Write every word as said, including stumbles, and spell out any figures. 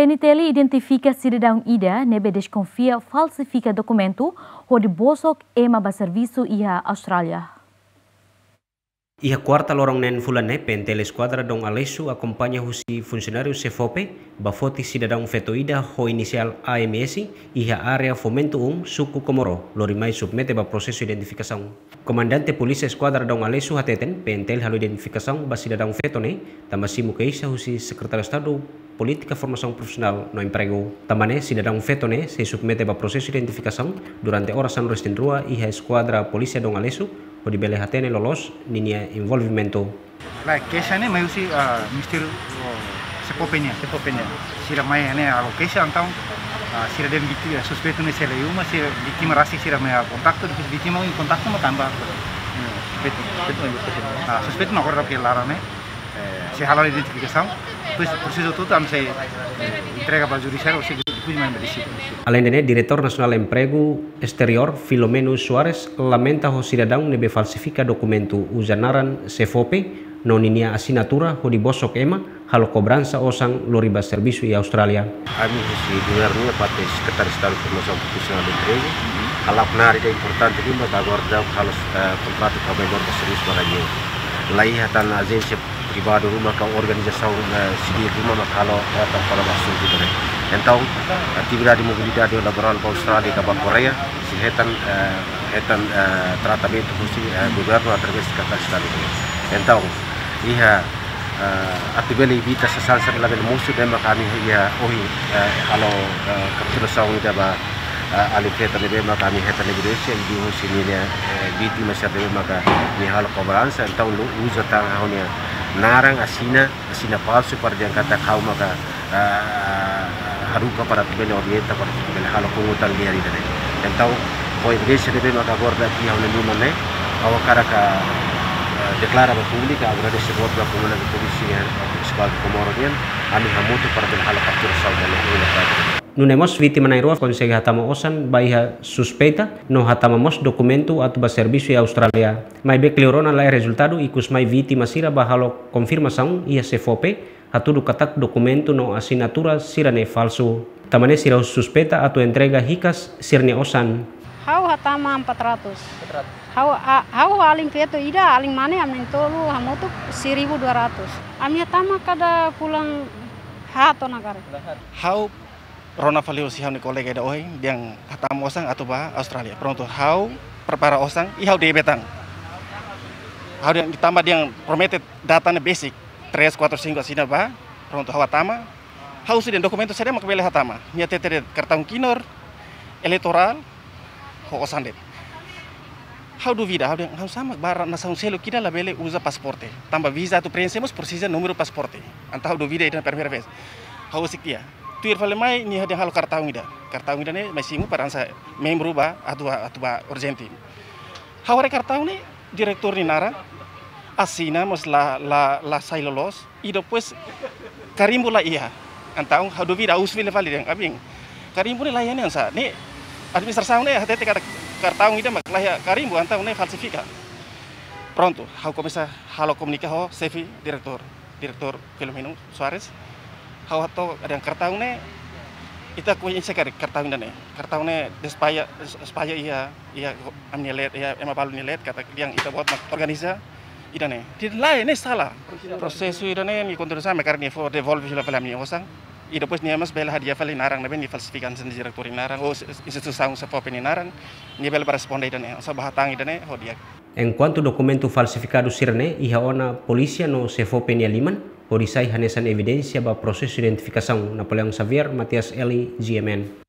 PNTL identifika sidadaun ida ne'ebé deskonfia falsifika dokumentu hodi bosok ema ba servisu iha Austrália. Iha kuarta loron neen fulan ne'e, PNTL Eskuadra Dom Aleixo akompaña husi funsionáriu SEFOPE ba foti sidadaun feto ida ho inisiál A M S iha área Fomento um, suku Comoro, lori mai submete ba prosesu identifikasaun. Komandante Polísia Eskuadra Dom Aleixo hateten, PNTL halo identifikasaun ba sidadaun feto ne'e, tanba simu keixa husi Sekretáriu Estadu Polítika Formasaun Profisionál no Empregu. Tanba ne'e, sidadaun feto ne'e sei submete ba prosesu identifikasaun durante oras sanulu-resin-rua iha Eskuadra Polísia Dom Aleixo, hodi bele hatene loloos ninia envolvimentu. Lae, keixa ne'e mai husi, ah, Ministériu, oh, SEFOPE nian. SEFOPE nian. Sira mai ne'e halo keixa entaun, ah, sira dehan vítima, suspeitu ne'e sei laiha uma, sira vítima rasik sira mai kontaktu, depois vítima iha kontaktu mak tanba. Hmm. Suspeitu, suspeitu mai husi ne'e. Ah, suspeitu mak agora ke laran ne'e. Eh, sei hala'o identifikasaun, depois prosesu hotu-hotu ami sei, eh, entrega ba judisiáriu, ou seja, depois mai ba deside. Aleinde ne'e, Diretór Nasionál Empregu Esteriór, Filomeno Soares, lamenta ho sidadaun ne'ebé falsifika dokumentu uza naran SEFOPE no ninia asinatura hodi bosok ema, halo kobransa osan lori ba servisu iha Austrália. Ami husi governu iha parte Sekretáriu Estadu Formasaun Profisionál no Empregu, hala'o knaar ida importante liu mak agora daudaun halo, eh, kontratu ka memória ba servisu ba rain. Laiha tan ajénsia privadu ruma ka organizasaun, eh, sivíl ruma mak halo, eh, tan para ba asuntu ne'e. Entaun, atividade mobilidade laborál ba Austrália ka ba Koreia, sei hetan, eh, hetan, eh, tratamentu husi, eh, governu através Sekretáriu Estadu. Entaun, iha, eh, atu bele evita sasán sira labele mosu, ne'e mak ami iha ohin, eh, halo, eh, kapturasaun ida ba, eh, alin feto ne'ebé mak ami hetan evidénsia, i husi ninia, eh, vítima sira ne'ebé mak nia halo kobransa, entaun uza tan ha'u-nia naran, asina, asina falsu para dehan katak ha'u maka, ah, haruka para atu bele orienta para atu bele halo pungutan di'ak ida-ne'e. Entaun, ho evidénsia ne'ebé maka agora dati ha'u-nia liman ne'e, ha'u hakarak, ah, deklara ba públiku, agradese boot ba komunidade públiku sira, eh, Eskuadra Comoro nian, ami hamutuk para bele halo kapturasaun ba ne'e. Nune'e mós vítima na'in-rua konsege hatama osan ba iha suspeita no hatama mós dokumentu atu ba servisu iha Austrália. Maibé kleur ona laiha rezultadu, ikus mai vítima sira bá halo konfirmasaun iha SEFOPE, hatudu katak dokumentu no asinatura sira-ne'e falsu. Tanba ne'e sira suspeita atu entrega hikas sira-nia osan. Ha'u hatama empat ratus. Ha'u, a, ha'u alin feto ida, alin mane ami na'in-tolu hamutuk seribu dua ratus. Ami hatama kada fulan haat ona karik. Ha'u rona fali husi ha'u-nia kolega ida ohin, dehan hatama osan atu bá Austrália. Prontu, ha'u prepara osan, i ha'u debe tan. Ha'u dehan, tanba dehan promete data ne'e besik, três, quatro, cinco asina bá, prontu, ha'u hatama. Ha'u husu dehan dokumentu saida mak bele hatama. Nia hatete dehan kartaun KNOR, eleitorál, ho osan de'it. Ha'u duvida, ha'u dehan, ha'u sama bara nasaun seluk ida labele uza pasaporte. Tanba viza atu preenxe mós presiza númeru pasaporte. Entaun ha'u duvida ida primeira vez. Ha'u husik tiha. Tuir fali mai, nia dehan halo kartaun ida. Kartaun ida-ne'e mai simu para hanesan membru bá, atu, atu bá urjente. Ha'u haree kartaun ne'e, diretór nia naran, asina mós la, la, la sai loloos. I depois karimbu laiha. Entaun ha'u duvida, ha'u husu fila fali dehan, abin, karimbu ne'e laiha ne'e hanesan? Ne'e administrasaun ne'e hatete katak kartaun ida mak laiha karimbu, entaun ne'e falsifika. Prontu, ha'u komesa halo komunika ho xefe diretór, diretór Filomeno Soares. Ha'u hato'o dehan kartaun ne'e, ita koñese karik kartaun ida-ne'e. Kartaun ne'e espalla, espalla iha, iha ami-nia leet, iha ema balu nia leet, katak dehan ita-boot mak organiza ida-ne'e. Dehan lae, ne'e sala. Prosesu ida-ne'e nia kontinua, mak karik nia fó devolve fila fali ami-nia osan. I depois nia mós bele hadi'a fali naran ne'ebé nia falsifika, hanesan diretór nia naran, ou instituisaun SEFOPE nia naran, nia bele bá responde ida-ne'e, hanesan bá hatán ida-ne'e ho di'ak. Enkuantu dokumentu falsifikadu sira-ne'e iha ona polísia no SEFOPE nia liman, hodi sai hanesan evidénsia ba prosesu identifikasaun. Napoleão Xavier, Matias Eli, G M N.